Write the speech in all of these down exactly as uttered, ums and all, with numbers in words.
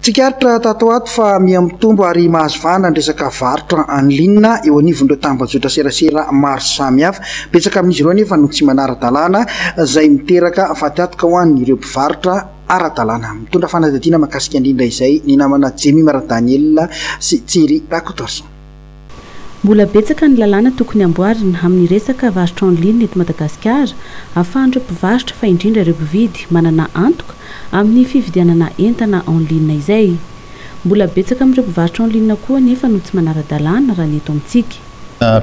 Tsikaritra tato ato fa miha-mitombo ary mahazo vahana ny resaka varotra en ligne eo anivon'ireo tambajotra serasera maro samihafa. Betsaka amin'izy ireo nefa no tsy manara-dalàna, izay miteraka fatiantoka ho an'ireo mpivarotra ara-dalàna. Mitondra fanadihadiana mahakasika indrindra izay ny namana Jemima Daniel sy Thierry Rakotoarison. Mbola betsaka ny lalàna tokony amboarina amin'ny resaka varotra en ligne eto Madagasikara, ahafahan'ireo mpivarotra, fa indrindra ireo mpividy, manana antoka amin'ny fividianana entana en ligne izay. Mbola betsaka amin'ireo mpivarotra en ligne koa nefa no tsy manara-dalàna raha ny eto amintsika.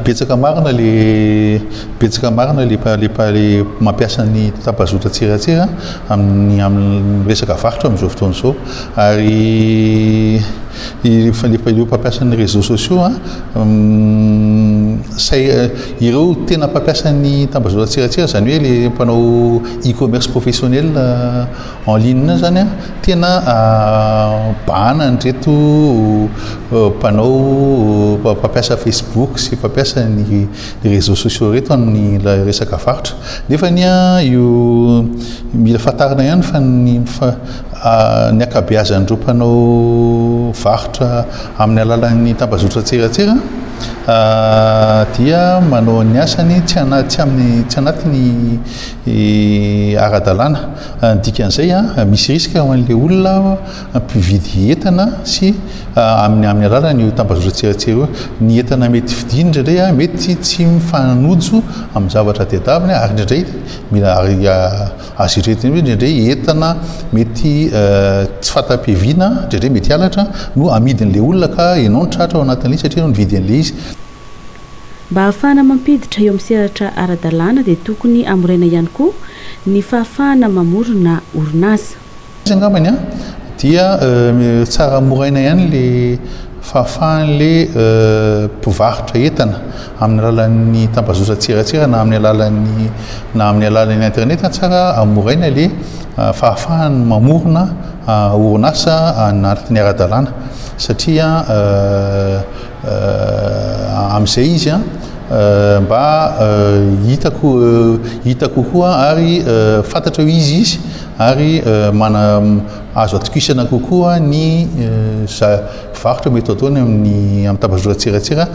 Betsaka marina le, betsaka marina le le le mampiasa ny tambazotra tseratsera amin'ny amin'ny resaka varotra amin'izao fotoana izao, ary ireo mpampiasa ny réseaux sociaux a, say ireo tena mpampiasa ny tambazotra tseratsera, zany hoe le mpanao e-commerce professionnel en ligne zany a, tena bahana ndreto mpanao mpampiasa Facebook sy mpampiasa ny réseaux sociaux reto amin'ny resaka varotra. Nefa ny a io mila fantarina ihany fa ny fa ny ankabeazan'ireo mpanao varotra amin'ny alalan'ny tambazotra tseratsera dia manao ny asany tsy ana tsy amin'ny tsy anatiny ara-dalàna. Ny dikan'izay a, misy risque ho an'le olona mpividy entana sy amin'ny amin'ny alalan'io tambazotra tseratsera io. Ny entana mety vidiny indraindray a mety tsy mifanojo amin'ny zavatra tadiaviny, ary indraindray mila ary azo eritreretina hoe indraindray entana mety tsy fanta-piaviana, indraindray mety halatra no amidin'le olona, ka ianao no tratra ao anatin'ilay izy satria ianao nividy an'ilay izy. Mba ahafahana mampiditra eo amin'ny sehatra ara-dalàna dia tokony amoraina ihany koa ny fahafahana mamorona orinasa. Izy angambany a dia tsara moraina ihany le fahafahan'le mpivarotra entana amin'ny alalan'ny tambazotra tseratsera na amin'ny alalan'ny na amin'ny alalan'ny internet. Tsara amoraina le fahafahany mamorona orinasa anatin'ny ara-dalàna, satria amin'izay izy a mba hitako hita kokoa ary fantatra hoe izy izy ary mana azo atokisana kokoa ny za varotra mety ataony amin'ny amin'ny tambazotra tseratsera,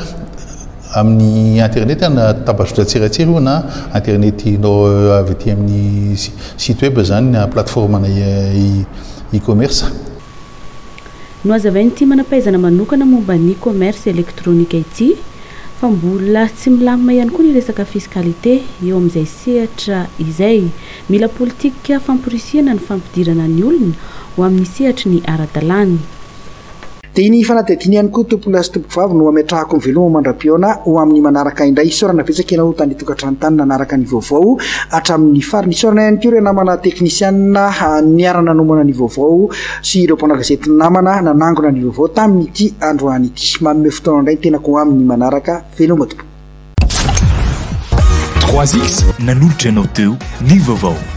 amin'ny internet, na tambazotra tseratsera io na internet no avy aty amin'ny site web zany na plateforme na e-commerce. No hazavain'ity manam-pahaizana manokana momba ny commerce électronique ity fa mbola tsy milamina ihany koa ny resaka fiscalité eo amin'izay sehatra izay. Mila politika famporisihana ny fampidirana ny olona ho amin'ny sehatry ny ara-dalàna. Dia ny fanadihadiana ihany koa, tompolahy sy tompovavy, no ametrahako ny veloma mandra-pihaona ho amin'ny manaraka indray. Isaorana betsaka ianao tany tokantrano tany nanaraka ny vaovao hatramin'ny farany. Isaorana ihany koa ireo namana teknisianina niara-nanomana ny vaovao sy ireo mpanao gazety namana nanangona ny vaovao tamin'ity androany ity. Manome fotoana indray tenako ho amin'ny manaraka. Veloma tompoko. trois X nanolotra anao teo ny vaovao.